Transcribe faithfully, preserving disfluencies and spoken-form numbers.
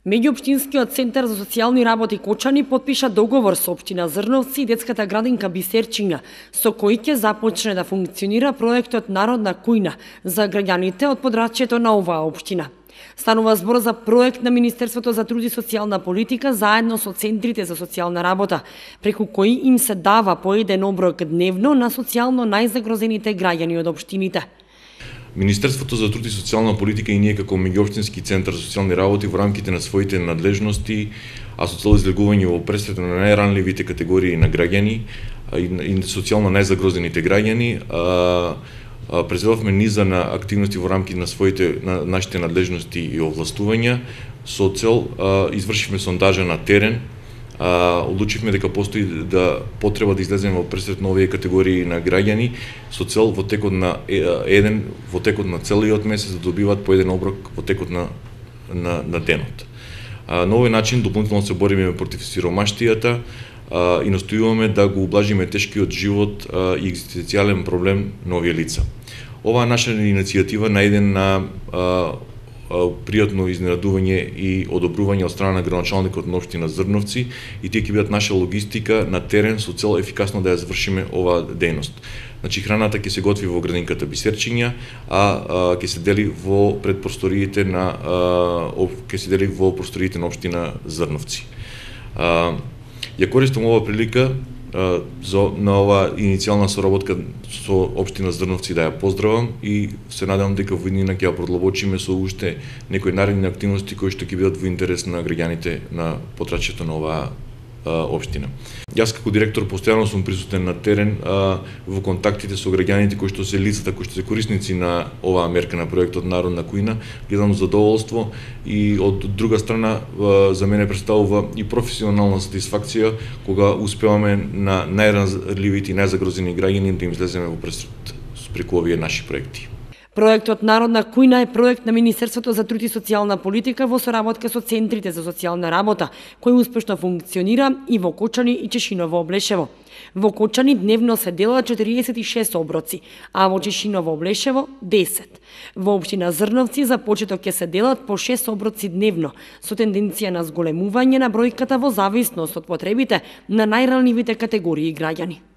Меѓуопштинскиот центар за социјални работи Кочани подпиша договор со општина Зрновци и детската градинка Бисерчиња, со кој ќе започне да функционира проектот Народна кујна за граѓаните од подрачјето на оваа општина. Станува збор за проект на Министерството за труд и социјална политика заедно со центрите за социјална работа, преку кои им се дава по еден оброк дневно на социјално најзагрозените граѓани од општините. Министерството за труд и социјална политика и ние како меѓуопштински центар за социјални работи во рамките на своите надлежности, а со цел излегување во пресвета на најранливите категории на граѓани и социјално најзагрозените граѓани, презедовме низа на активности во рамките на своите на нашите надлежности и овластувања со цел извршивме сондажа на терен. Uh, одлучивме дека постои да потреба да излеземе во пресред на овие категории на граѓани со цел во текот на еден во текот на целиот месец да добиваат по еден оброк во текот на на, на денот. Uh, на овој начин дополнително се бориме против сиромаштијата uh, и настојуваме да го ублажиме тешкиот живот uh, и екзистенцијален проблем на овие лица. Оваа наша иницијатива најде на uh, пријатно изненадување и одобрување од страна на градоначалникот на општина Зрновци и тие ќе бидат наша логистика на терен со цел ефикасно да ја завршиме оваа дејност. Значи храната ќе се готви во градинката Бисерчиња, а ќе се дели во предпросториите на ќе се дели во просториите на општина Зрновци. А, ја користам оваа прилика за на оваа иницијална соработка со општина Зрновци да ја поздравам и се надевам дека во иднина ќе ја продлабочиме со уште некои наредни активности кои што ќе бидат во интерес на граѓаните на подрачјето на оваа општина. Јас како директор постојано сум присутен на терен а, во контактите со граѓаните кои што се лицата кои што се корисници на оваа мерка на проектот Народна кујна, гледам задоволство и од друга страна а, за мене представува и професионална сатисфакција кога успеваме на најранливите и најзагрозени граѓани да им излеземе во пресред преку овие наши проекти. Проектот Народна кујна е проект на Министерството за труд и социјална политика во соработка со центрите за социјална работа, кој успешно функционира и во Кочани и Чешиново Облешево. Во Кочани дневно се делат четириесет и шест оброци, а во Чешиново Облешево десет. Во општина Зрновци за почеток ќе се делат по шест оброци дневно, со тенденција на зголемување на бројката во зависност од потребите на најранливите категории граѓани.